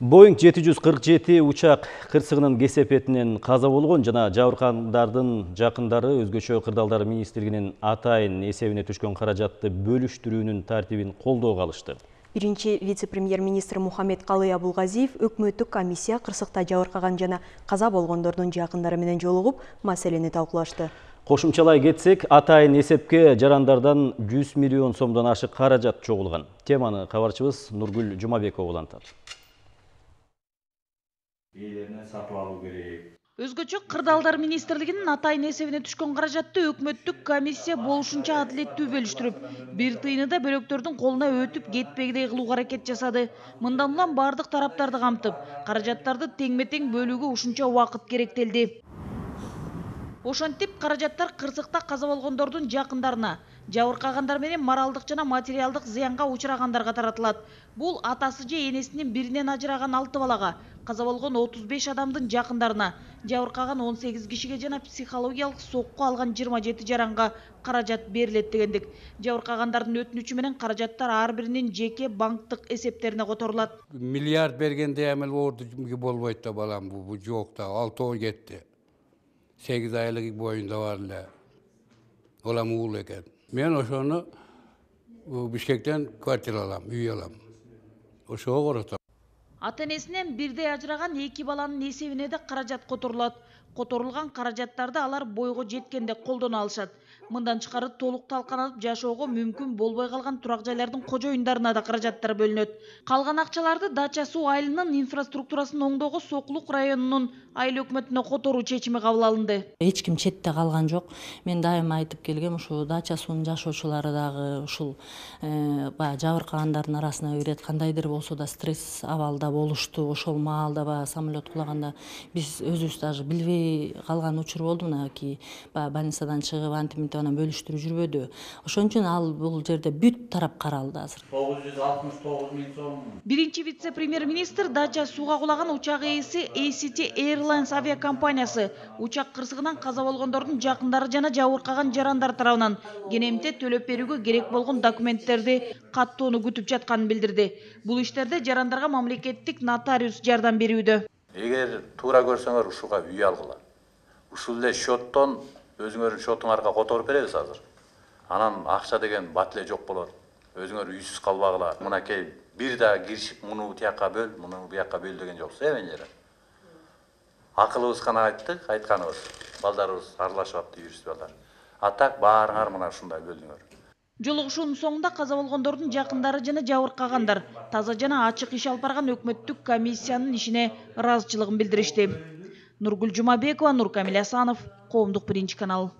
Boeing 747 учак кырсыгынын кесепетинен каза болгон жана жабыркагандардын жакындары өзгөчө кырдаалдар министрлигинин атайын эсебине түшкөн каражатты бөлүштүрүүнүн тартибин колдоого алышты. Биринчи вице-премьер-министр Мухаммед Калый Абулгазиев өкмөттүк комиссия кырсыкта жабыркаган жана каза болгондордун жакындары менен жолугуп, маселени талкуулашты. Кошумчалай кетсек, атайын эсепке жарандардан 100 миллион сомдон ашык каражат чогулган. Теманы кабарчыбыз Нургүл Жумабекова улантат. Өзгөчө кырдаалдар министрлигинин атайын эсебине түшкөн каражатты өкмөттүк комиссия болушунча адилеттүү бөлүштүрүп, бир тыйыны да бөлөктөрдүн колуна өтүп кетпегидей кылууга аракет жасады. Мындан улам бардык тараптарды камтып, каражаттарды теңме-тең бөлүүгө ушунча убакыт керектелди. Ошентип, каражаттар кырсыкта каза болгондордун жакындарына, жабыркагандар менен моралдык жана материалдык зыянга учурагандарга таратылат. Бул атасы же энесинин биринен ажыраган 6 балага, каза болгон 35 адамдын жакындарына, жабыркаган 18 кишиге жана психологиялык сокку алган 27 жаранга каражат берилет дегендик. Жабыркагандардын өтүнүчү менен каражаттар ар биринин жеке банктык эсептерине которулат. Миллиард бергенде эмел болбойт да балам, бу жок да, 6 кетти. 8 айлык боюнда бар эле. Олам уул экен. Мен ошону Бишкектен квартира алам, үй алам. Ошого коротом. Ата-энесинен бирдей ажыраган 2 баланын эсебине да каражат которулат. Которулган каражаттарды алар бойго жеткенде колдоно алышат. Мындан тышкары толук талканып жашоого мүмкүн болбой калган турак жайлардын кожоюндарына да каражаттар бөлүнөт. Калган акчаларды Дача суу айылынын инфраструктурасын оңдоого Сокулук районунун айыл өкмөтүнө которуу чечими кабыл алынды. Эч ким четте калган жок. Мен дайыма айтып келгем, ушу Дача суунун жашоочулары дагы ушул жабыркагандардын арасына кирет. Кандайдыр болсо да стресс абалда болушту. Ошол маалда самолет кулаганда биз өзүбүз даже билбей калган учур болду. Мынакей больницадан чыгып антиминтип анан бөлүштүрүп жүрбөдү. Ошон үчүн ал бул жерде бүт тарап каралды азыр. 969 миң сом. Биринчи вице-премьер-министр Дача сууга кулаган учак ээси ACT Airlines авиакомпаниясы учак кырсыгынан каза болгондордун жакындары жана жабыркаган жарандар тарабынан кенемте төлөп берүүгө керек болгон документтерди каттоону күтүп жатканын билдирди. Бул иштерде жарандарга мамлекеттик нотариус жардам берүүдө. Эгер туура көрсөңөр ушуга үй алгыла. Ушул эле счеттон өзүңөрдүн счетуңарга которуп беребиз азыр. Анан акча деген бат эле жок болот. Өзүңөр үйсүз калбагыла. Мынакей бир да киришип муну тияка бөл, муну буяка бөл деген жоксу эмелер. Акылыбыз гана айттык, айтканыбыз. Балдарыбыз аралашып атты, юрист балдар. А так баарыңар мына ушундай бөлүңөр. Жолугушуунун соңунда каза болгондордун жакындары жана жабыркагандар таза жана ачык иш алып барган өкмөттүк комиссиянын ишине ыраазычылыгын билдиришти. Нургүл Жумабекова, Нуркамил Асанов, Коомдук биринчи канал.